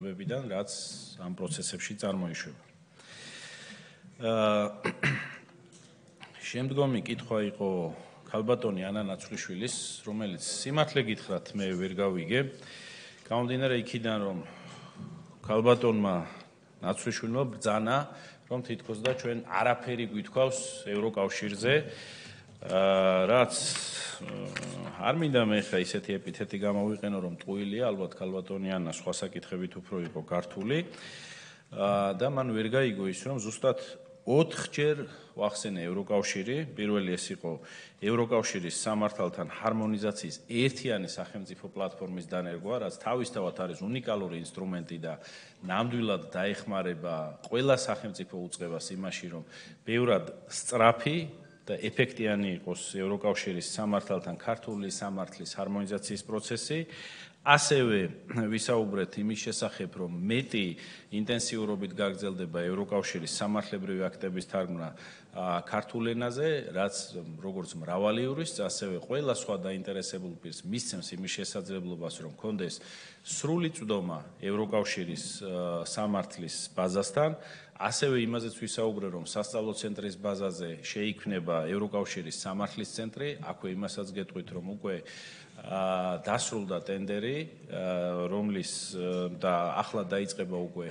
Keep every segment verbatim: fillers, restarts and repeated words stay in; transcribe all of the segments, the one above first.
განვითარებებიდან, რაც ამ პროცესებში წარმოიშვება. შემდგომი კითხვა იყო ქალბატონი ანა ნაცვლიშვილის, რომელიც სიმართლე გითხრათ მე ვერ გავიგე. გამომდინარე იქიდან, რომ ქალბატონმა ნაცვლიშვილმა ბრძანა, რომ თითქოს და ჩვენ არაფერი გვითქვავს ევროკავშირზე, რაც არ მინდა მე ხა ისეთი ეპითეტი გამოვიყენო, რომ ტყუილია, ალბათ ქალბატონი ანა სხვა საკითხებით უფრო იყო გართული და მან ვერ გაიგო ის, რომ ზუსტად ოთხჯერ ვახსენე ევროკავშირი, პირველი ეს იყო ევროკავშირის სამართალთან ჰარმონიზაციის ერთიანი სახელმწიფო პლატფორმის დანერგვა, რაც თავისთავად არის უნიკალური ინსტრუმენტი და ნამდვილად დაეხმარება ყველა სახელმწიფო უწყებას იმაში, რომ ბევრად სწრაფი და ეფექტიანი იყოს ევროკავშირის სამართალთან ქართული სამართლის ჰარმონიზაციის პროცესი. ასევე ვისაუბრეთ იმის შესახებ, რომ მეტი ინტენსიურობით გაგრძელდება ევროკავშირის სამართლებრივი აქტების თარგმნა ქართულ ენაზე, რაც როგორც მრავალი იურისტს, ასევე ყველა სხვა დაინტერესებულ პირს მისცემს იმის შესაძლებლობას, რომ კონდეს სრული წვდომა ევროკავშირის სამართლის ბაზასთან. ასევე იმაზეც ვისაუბრე, რომ სასწავლო ცენტრის ბაზაზე შეიქმნება ევროკავშირის სამართლის ცენტრი, აქვე იმასაც გეტყვით, რომ უკვე დასრულდა ტენდერი, რომლის და ახლა დაიწყება უკვე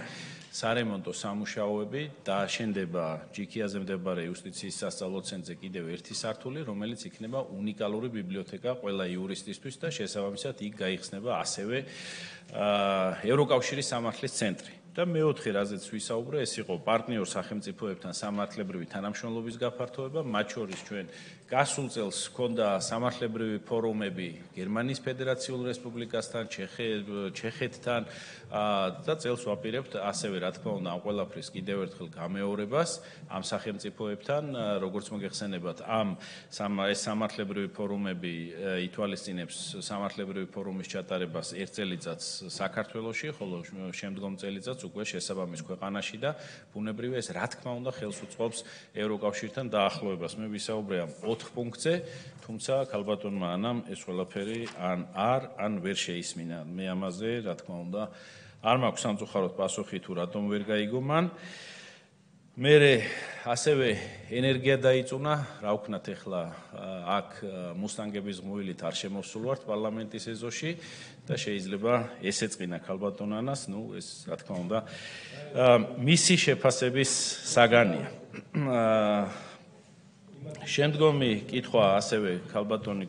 სარემონტო სამუშაოები და აშენდება ჯიქიაზე მდებარე იუსტიციის სასწავლო ცენტრზე კიდევ ერთი სართული, რომელიც იქნება უნიკალური ბიბლიოთეკა ყველა იურისტისთვის და შესაბამისად იქ გაიხსნება ასევე ევროკავშირის სამართლის ცენტრი. და მეოთხე, რაზეც ვისაუბრე, ეს იყო პარტნიორ სახელმწიფოებთან სამართლებრივი თანამშრომლობის გაფართოება, მათ შორის ჩვენ გასულ წელს ჰქონდა სამართლებრივი ფორუმები გერმანიის ფედერაციულ რესპუბლიკასთან, ჩეხეთთან და წელს ვაპირებთ ასევე, რა თქმა უნდა, ამ ყველაფრის კიდევ ერთხელ გამეორებას ამ სახელმწიფოებთან, როგორც მოგეხსენებათ, ამ ეს სამართლებრივი ფორუმები ითვალისწინებს სამართლებრივი ფორუმის ჩატარებას ერთ წელიწადს საქართველოში, ხოლო შემდგომ წელიწადს უკვე შესაბამის ქვეყანაში და ბუნებრივია ეს რა თქმა უნდა ხელს უწყობს ევროკავშირთან დაახლოებას. მე ვისაუბრე ამ ოთხ პუნქტზე, თუმცა ქალბატონმა ანამ ეს ყველაფერი ან არ, ან ვერ შეისმინა. მე ამაზე, რა თქმა უნდა, არ მაქვს სამწუხაროდ პასუხი თუ რატომ ვერ გაიგო მან. მე ასევე ენერგია დაიწუნა, რა ვქნათ ახლა აქ მუსტანგების ღმულით არ შემოვსულვართ პარლამენტის ეზოში და შეიძლება ესეწყინა ქალბატონ ანას, ნუ ეს რა თქმა უნდა მისი შეფასების საგანია. შემდგომი კითხვა ასევე ქალბატონი